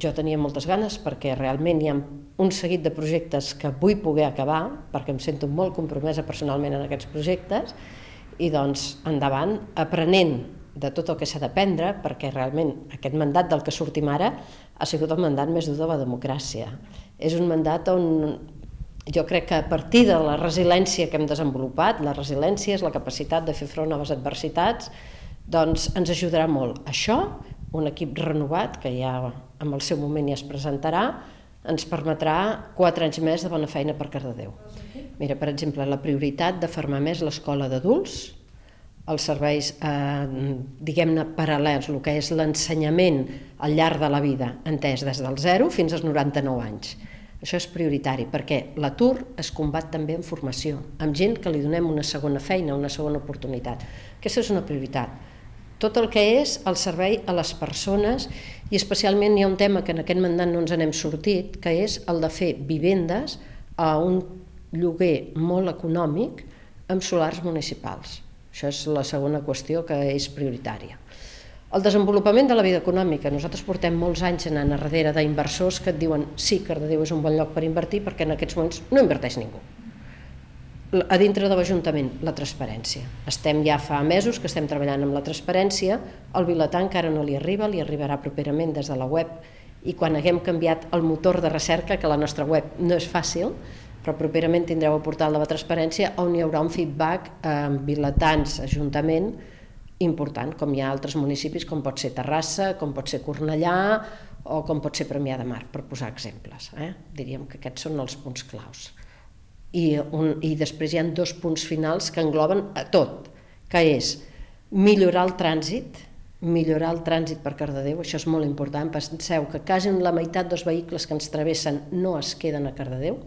Jo tenia moltes ganes perquè realment hi ha un seguit de projectes que vull poder acabar, perquè em sento molt compromesa personalment en aquests projectes, i doncs endavant, aprenent de tot el que s'ha d'aprendre, perquè realment aquest mandat del que sortim ara ha sigut el mandat més dur de la democràcia. És un mandat on jo crec que a partir de la resiliència que hem desenvolupat, la resiliència és la capacitat de fer front a les adversitats, doncs ens ajudarà molt. Això, un equip renovat, que ja en el seu moment ja es presentarà, ens permetrà 4 anys més de bona feina per Cardedeu. Mira, per exemple, la prioritat de fermar més l'escola d'adults, els serveis, diguem-ne, paral·lels, el que és l'ensenyament al llarg de la vida, entès des del 0 fins als 99 anys. Això és prioritari, perquè l'atur es combat també en formació, amb gent que li donem una segona feina, una segona oportunitat. Aquesta és una prioritat. Tot el que és el servei a les persones, i especialment hi ha un tema que en aquest mandat no ens n'hem sortit, que és el de fer vivendes a un lloguer molt econòmic amb solars municipals. Això és la segona qüestió que és prioritària. El desenvolupament de la vida econòmica. Nosaltres portem molts anys anant a darrere d'inversors que et diuen sí, Cardedeu és un bon lloc per invertir perquè en aquests moments no inverteix ningú. A dintre de l'Ajuntament, la transparència. Estem ja fa mesos que estem treballant amb la transparència, el biletà encara no li arribarà properament des de la web, i quan haguem canviat el motor de recerca, que la nostra web no és fàcil, però properament tindreu el portal de la transparència on hi haurà un feedback amb biletans, Ajuntament, important, com hi ha altres municipis, com pot ser Terrassa, com pot ser Cornellà o com pot ser Premià de Mar, per posar exemples. Diríem que aquests són els punts claus. I després hi ha 2 punts finals que engloben a tot, que és millorar el trànsit per Cardedeu, això és molt important. Penseu que quasi la meitat dels vehicles que ens travessen no es queden a Cardedeu,